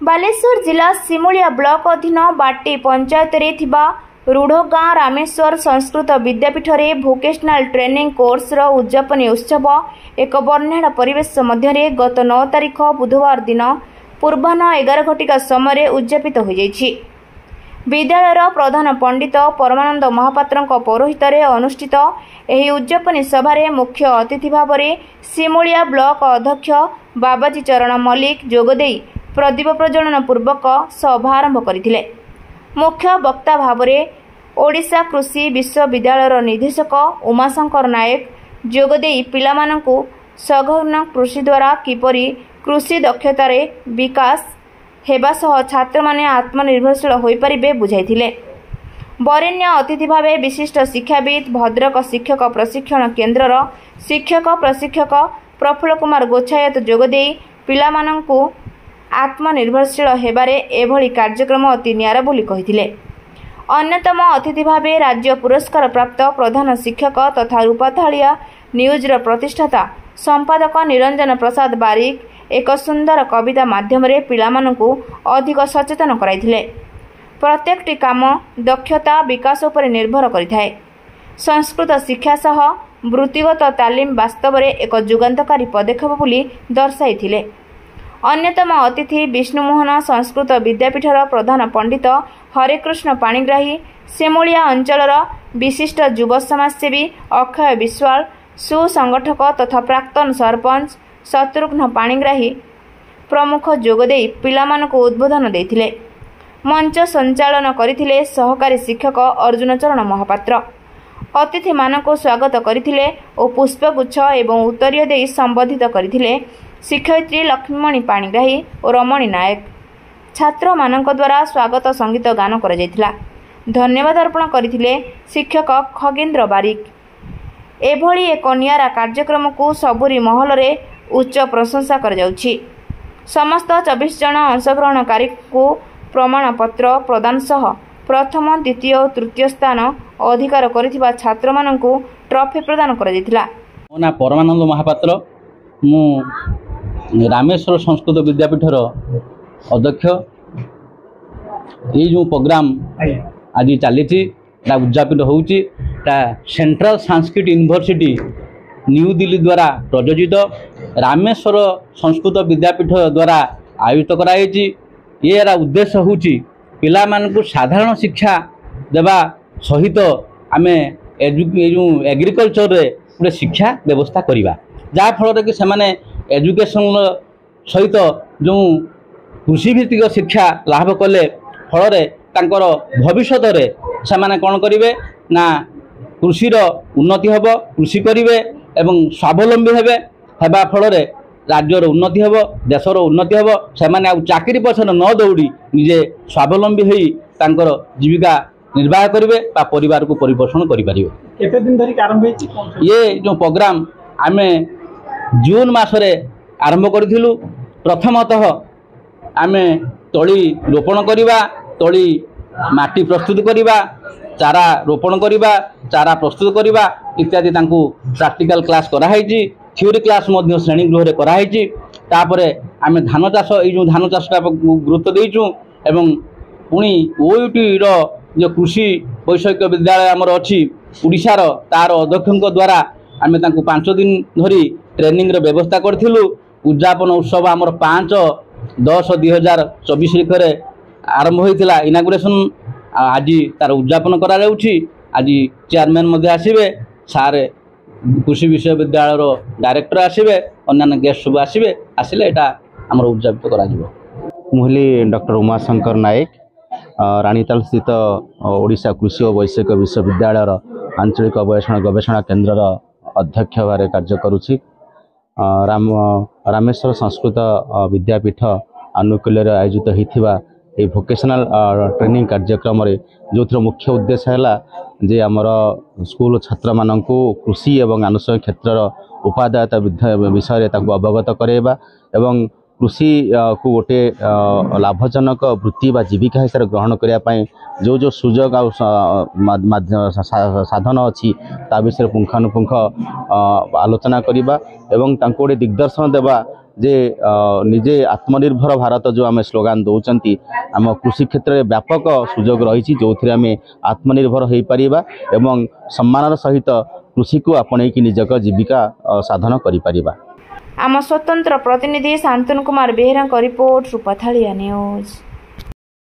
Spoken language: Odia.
ବାଲେଶ୍ୱର ଜିଲ୍ଲା ସିମୁଳିଆ ବ୍ଲକ ଅଧୀନ ବାଟି ପଞ୍ଚାୟତରେ ଥିବା ରୁଢ଼ଗାଁ ରାମେଶ୍ୱର ସଂସ୍କୃତ ବିଦ୍ୟାପୀଠରେ ଭୋକେସନାଲ ଟ୍ରେନିଂ କୋର୍ସର ଉଦ୍ଯାପନୀ ଉତ୍ସବ ଏକ ବର୍ଣ୍ଣାଢ୍ୟ ପରିବେଶ ମଧ୍ୟରେ ଗତ 9 ତାରିଖ ବୁଧବାର ଦିନ ପୂର୍ବାହ୍ନ 11 ଘଟିକା ସମୟରେ ଉଦ୍ଯାପିତ ହୋଇଯାଇଛି। ବିଦ୍ୟାଳୟର ପ୍ରଧାନ ପଣ୍ଡିତ ପରମାନନ୍ଦ ମହାପାତ୍ରଙ୍କ ପୌରୋହିତ୍ୟରେ ଅନୁଷ୍ଠିତ ଏହି ଉଦ୍ଯାପନୀ ସଭାରେ ମୁଖ୍ୟ ଅତିଥି ଭାବରେ ସିମୁଳିଆ ବ୍ଲକ ଅଧ୍ୟକ୍ଷ ବାବାଜୀ ଚରଣ ମଲ୍ଲିକ ଯୋଗଦେଇ ପ୍ରଦୀପ ପ୍ରଜ୍ୱଳନ ପୂର୍ବକ ସଭା ଆରମ୍ଭ କରିଥିଲେ। ମୁଖ୍ୟ ବକ୍ତା ଭାବରେ ଓଡ଼ିଶା କୃଷି ବିଶ୍ୱବିଦ୍ୟାଳୟର ନିର୍ଦ୍ଦେଶକ ଉମାଶଙ୍କର ନାୟକ ଯୋଗଦେଇ ପିଲାମାନଙ୍କୁ ସଘନ କୃଷି ଦ୍ୱାରା କିପରି କୃଷି ଦକ୍ଷତାରେ ବିକାଶ ହେବା ସହ ଛାତ୍ରମାନେ ଆତ୍ମନିର୍ଭରଶୀଳ ହୋଇପାରିବେ ବୁଝାଇଥିଲେ। ବରେଣ୍ୟ ଅତିଥି ଭାବେ ବିଶିଷ୍ଟ ଶିକ୍ଷାବିତ୍ ଭଦ୍ରକ ଶିକ୍ଷକ ପ୍ରଶିକ୍ଷଣ କେନ୍ଦ୍ରର ଶିକ୍ଷକ ପ୍ରଶିକ୍ଷକ ପ୍ରଫୁଲ୍ଲ କୁମାର ଗୋଛାୟତ ଯୋଗଦେଇ ପିଲାମାନଙ୍କୁ ଆତ୍ମନିର୍ଭରଶୀଳ ହେବାରେ ଏଭଳି କାର୍ଯ୍ୟକ୍ରମ ଅତି ନିଆରା ବୋଲି କହିଥିଲେ। ଅନ୍ୟତମ ଅତିଥି ଭାବେ ରାଜ୍ୟ ପୁରସ୍କାର ପ୍ରାପ୍ତ ପ୍ରଧାନ ଶିକ୍ଷକ ତଥା ରୂପାଥାଳିଆ ନ୍ୟୁଜ୍ର ପ୍ରତିଷ୍ଠାତା ସମ୍ପାଦକ ନିରଞ୍ଜନ ପ୍ରସାଦ ବାରିକ ଏକ ସୁନ୍ଦର କବିତା ମାଧ୍ୟମରେ ପିଲାମାନଙ୍କୁ ଅଧିକ ସଚେତନ କରାଇଥିଲେ। ପ୍ରତ୍ୟେକଟି କାମ ଦକ୍ଷତା ବିକାଶ ଉପରେ ନିର୍ଭର କରିଥାଏ। ସଂସ୍କୃତ ଶିକ୍ଷା ସହ ବୃତ୍ତିଗତ ତାଲିମ ବାସ୍ତବରେ ଏକ ଯୁଗାନ୍ତକାରୀ ପଦକ୍ଷେପ ବୋଲି ଦର୍ଶାଇଥିଲେ। ଅନ୍ୟତମ ଅତିଥି ବିଷ୍ଣୁମୋହନ ସଂସ୍କୃତ ବିଦ୍ୟାପୀଠର ପ୍ରଧାନ ପଣ୍ଡିତ ହରେକୃଷ୍ଣ ପାଣିଗ୍ରାହୀ, ସିମୁଳିଆ ଅଞ୍ଚଳର ବିଶିଷ୍ଟ ଯୁବ ସମାଜସେବୀ ଅକ୍ଷୟ ବିଶ୍ୱାଳ, ସୁସଂଗଠକ ତଥା ପ୍ରାକ୍ତନ ସରପଞ୍ଚ ଶତ୍ରୁଘ୍ନ ପାଣିଗ୍ରାହୀ ପ୍ରମୁଖ ଯୋଗଦେଇ ପିଲାମାନଙ୍କୁ ଉଦ୍ବୋଧନ ଦେଇଥିଲେ। ମଞ୍ଚ ସଞ୍ଚାଳନ କରିଥିଲେ ସହକାରୀ ଶିକ୍ଷକ ଅର୍ଜୁନ ଚରଣ ମହାପାତ୍ର। ଅତିଥିମାନଙ୍କୁ ସ୍ୱାଗତ କରିଥିଲେ ଓ ପୁଷ୍ପଗୁଚ୍ଛ ଏବଂ ଉତ୍ତରୀୟ ଦେଇ ସମ୍ବର୍ଦ୍ଧିତ କରିଥିଲେ ଶିକ୍ଷୟିତ୍ରୀ ଲକ୍ଷ୍ମୀମଣି ପାଣିଗ୍ରାହୀ ଓ ରମଣୀ ନାୟକ। ଛାତ୍ରମାନଙ୍କ ଦ୍ୱାରା ସ୍ୱାଗତ ସଙ୍ଗୀତ ଗାନ କରାଯାଇଥିଲା। ଧନ୍ୟବାଦ ଅର୍ପଣ କରିଥିଲେ ଶିକ୍ଷକ ଖଗେନ୍ଦ୍ର ବାରିକ। ଏଭଳି ଏକ ନିଆରା କାର୍ଯ୍ୟକ୍ରମକୁ ସବୁରି ମହଲରେ ଉଚ୍ଚ ପ୍ରଶଂସା କରାଯାଉଛି। ସମସ୍ତ 24 ଜଣ ଅଂଶଗ୍ରହଣକାରୀଙ୍କୁ ପ୍ରମାଣପତ୍ର ପ୍ରଦାନ ସହ ପ୍ରଥମ, ଦ୍ୱିତୀୟ ଓ ତୃତୀୟ ସ୍ଥାନ ଅଧିକାର କରିଥିବା ଛାତ୍ରମାନଙ୍କୁ ଟ୍ରଫି ପ୍ରଦାନ କରାଯାଇଥିଲା। ମୋ ନାଁ ପରମାନନ୍ଦ ମହାପାତ୍ର, ମୁଁ ରାମେଶ୍ୱର ସଂସ୍କୃତ ବିଦ୍ୟାପୀଠର ଅଧ୍ୟକ୍ଷ। ଏଇ ଯେଉଁ ପ୍ରୋଗ୍ରାମ ଆଜି ଚାଲିଛି, ଏଟା ଉଦଯାପିତ ହେଉଛି, ଏଟା central Sanskrit university new Delhi ଦ୍ୱାରା ପ୍ରଯୋଜିତ, ରାମେଶ୍ୱର ସଂସ୍କୃତ ବିଦ୍ୟାପୀଠ ଦ୍ୱାରା ଆୟୋଜିତ କରାଯାଇଛି। ଏହାର ଉଦ୍ଦେଶ୍ୟ ହେଉଛି ପିଲାମାନଙ୍କୁ ସାଧାରଣ ଶିକ୍ଷା ଦେବା ସହିତ ଆମେ ଏ ଯେଉଁ ଏଗ୍ରିକଲଚରରେ ଗୋଟେ ଶିକ୍ଷା ବ୍ୟବସ୍ଥା କରିବା, ଯାହାଫଳରେ କି ସେମାନେ ଏଜୁକେସନ୍ର ସହିତ ଯେଉଁ କୃଷିଭିତ୍ତିକ ଶିକ୍ଷା ଲାଭ କଲେ ଫଳରେ ତାଙ୍କର ଭବିଷ୍ୟତରେ ସେମାନେ କ'ଣ କରିବେ ନା କୃଷିର ଉନ୍ନତି ହେବ, କୃଷି କରିବେ ଏବଂ ସ୍ୱାବଲମ୍ବୀ ହେବେ। ହେବା ଫଳରେ ରାଜ୍ୟର ଉନ୍ନତି ହେବ, ଦେଶର ଉନ୍ନତି ହେବ। ସେମାନେ ଆଉ ଚାକିରି ପଛରେ ନ ଦୌଡ଼ି ନିଜେ ସ୍ୱାବଲମ୍ବୀ ହୋଇ ତାଙ୍କର ଜୀବିକା ନିର୍ବାହ କରିବେ ବା ପରିବାରକୁ ପରିପୋଷଣ କରିପାରିବେ। କେତେ ଦିନ ଧରିକି ଆରମ୍ଭ ହେଇଛି? ଇଏ ଯେଉଁ ପ୍ରୋଗ୍ରାମ ଆମେ ଜୁନ୍ ମାସରେ ଆରମ୍ଭ କରିଥିଲୁ। ପ୍ରଥମତଃ ଆମେ ତଳି ରୋପଣ କରିବା, ତଳି ମାଟି ପ୍ରସ୍ତୁତ କରିବା, ଚାରା ରୋପଣ କରିବା, ଚାରା ପ୍ରସ୍ତୁତ କରିବା ଇତ୍ୟାଦି ତାଙ୍କୁ ପ୍ରାକ୍ଟିକାଲ କ୍ଲାସ୍ କରାହେଇଛି। ଥିଓରି କ୍ଲାସ୍ ମଧ୍ୟ ଶ୍ରେଣୀ ଗୃହରେ କରାହେଇଛି। ତାପରେ ଆମେ ଧାନ ଚାଷ, ଏଇ ଯେଉଁ ଧାନ ଚାଷଟା ଗୁରୁତ୍ୱ ଦେଇଛୁ ଏବଂ ପୁଣି ଓୟୁଟିର ଯେଉଁ କୃଷି ବୈଷୟିକ ବିଦ୍ୟାଳୟ ଆମର ଅଛି ଓଡ଼ିଶାର, ତାର ଅଧ୍ୟକ୍ଷଙ୍କ ଦ୍ୱାରା ଆମେ ତାଙ୍କୁ 5 ଦିନ ଧରି ଟ୍ରେନିଂର ବ୍ୟବସ୍ଥା କରିଥିଲୁ। ଉଦଯାପନ ଉତ୍ସବ ଆମର 5/10/2024 ତାରିଖରେ ଆରମ୍ଭ ହୋଇଥିଲା ଇନାଗୁରେସନ୍, ଆଜି ତାର ଉଦଯାପନ କରାଯାଉଛି। ଆଜି ଚେୟାରମ୍ୟାନ୍ ମଧ୍ୟ ଆସିବେ, ସାର୍ କୃଷି ବିଶ୍ୱବିଦ୍ୟାଳୟର ଡାଇରେକ୍ଟର ଆସିବେ, ଅନ୍ୟାନ୍ୟ ଗେଷ୍ଟ ସବୁ ଆସିବେ। ଆସିଲେ ଏଇଟା ଆମର ଉଦଯାପିତ କରାଯିବ। ମୁଁ ହେଲି ଡକ୍ଟର ଉମାଶଙ୍କର ନାୟକ, ରାଣୀତାଲ ସ୍ଥିତ ଓଡ଼ିଶା କୃଷି ଓ ବୈଷୟିକ ବିଶ୍ୱବିଦ୍ୟାଳୟର ଆଞ୍ଚଳିକ ଗବେଷଣା କେନ୍ଦ୍ରର ଅଧ୍ୟକ୍ଷ ଭାବରେ କାର୍ଯ୍ୟ କରୁଛି। ରାମେଶ୍ୱର ସଂସ୍କୃତ ବିଦ୍ୟାପୀଠ ଆନୁକୂଲ୍ୟରେ ଆୟୋଜିତ ହୋଇଥିବା ଏହି ଭୋକେସନାଲ ଟ୍ରେନିଂ କାର୍ଯ୍ୟକ୍ରମରେ, ଯେଉଁଥିର ମୁଖ୍ୟ ଉଦ୍ଦେଶ୍ୟ ହେଲା ଯେ ଆମର ସ୍କୁଲ ଛାତ୍ରମାନଙ୍କୁ କୃଷି ଏବଂ ଆନୁଷଙ୍ଗିକ କ୍ଷେତ୍ରର ଉପାଦେୟତା ବିଷୟରେ ତାଙ୍କୁ ଅବଗତ କରାଇବା ଏବଂ କୃଷି କୁ ଗୋଟେ ଲାଭଜନକ ବୃତ୍ତି ବା ଜୀବିକା ହିସାବରେ ଗ୍ରହଣ କରିବା ପାଇଁ ଯେଉଁ ଯେଉଁ ସୁଯୋଗ ଆଉ ସାଧନ ଅଛି, ତା ବିଷୟରେ ପୁଙ୍ଖାନୁପୁଙ୍ଖ ଆଲୋଚନା କରିବା ଏବଂ ତାଙ୍କୁ ଗୋଟେ ଦିଗ୍ଦର୍ଶନ ଦେବା ଯେ ନିଜେ ଆତ୍ମନିର୍ଭର ଭାରତ ଯେଉଁ ଆମେ ସ୍ଲୋଗାନ ଦେଉଛନ୍ତି, ଆମ କୃଷି କ୍ଷେତ୍ରରେ ବ୍ୟାପକ ସୁଯୋଗ ରହିଛି, ଯେଉଁଥିରେ ଆମେ ଆତ୍ମନିର୍ଭର ହୋଇପାରିବା ଏବଂ ସମ୍ମାନର ସହିତ କୃଷିକୁ ଆପଣେଇକି ନିଜକ ଜୀବିକା ସାଧନ କରିପାରିବା। ଆମ ସ୍ୱତନ୍ତ୍ର ପ୍ରତିନିଧି ଶାନ୍ତନୁ କୁମାର ବେହେରାଙ୍କ ରିପୋର୍ଟ, ରୂପାଥାଳିଆ ନ୍ୟୁଜ୍।